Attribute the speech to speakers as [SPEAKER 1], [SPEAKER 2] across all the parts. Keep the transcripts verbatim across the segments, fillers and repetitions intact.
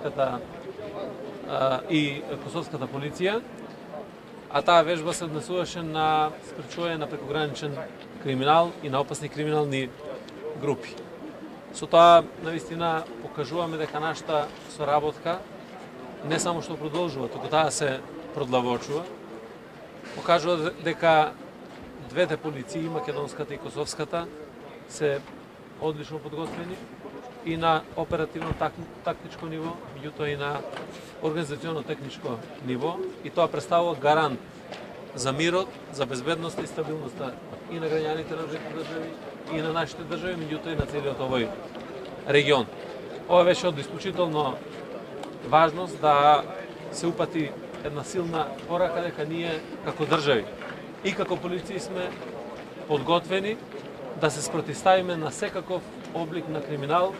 [SPEAKER 1] македонската и косовската полиција, а таа вежба се однесуваше на спречување на прекограничен криминал и на опасни криминални групи. Со тоа, навистина, покажуваме дека нашата соработка не само што продолжува, туку таа се продлабочува. Покажува дека двете полиции, македонската и косовската, се одлично подготвени и на оперативно тактичко ниво, меѓутоа и на организационно техничко ниво, и тоа представува гарант за мирот, за безбедноста и стабилноста и на граѓаните на двете држави, и на нашите држави, меѓутоа и на целиот овој регион. Ова беше од исклучително важност да се упати една силна порака дека ние како држави и како полиции сме подготвени да се спротивставиме на секаков облик на криминал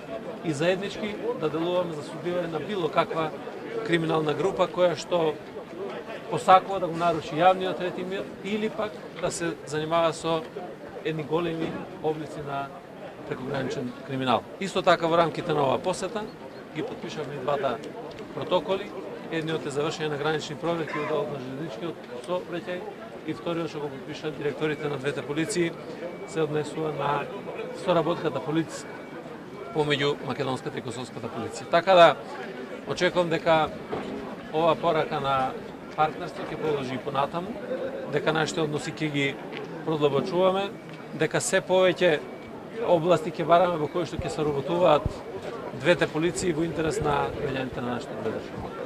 [SPEAKER 1] и заеднички да делуваме за сузбивање на било каква криминална група која што посакува да го наруши јавниот ред и мир или пак да се занимава со едни големи облици на прекограничен криминал. Исто така во рамките на оваа посета ги потпишавме и двата протоколи. Едниот е завршење на гранични проверки во делот на железничкиот сообраќај и вториот што го потпишаа директорите на двете полиции се однесува на соработката полициска помеѓу македонската и косовската полиција. Така да очекувам дека ова порака на партнерство ќе продолжи и понатаму, дека нашите односи ќе ги продлабочуваме, дека се повеќе области ќе бараме во кои што ќе соработуваат двете полиции во интерес на граѓаните на нашите две држави.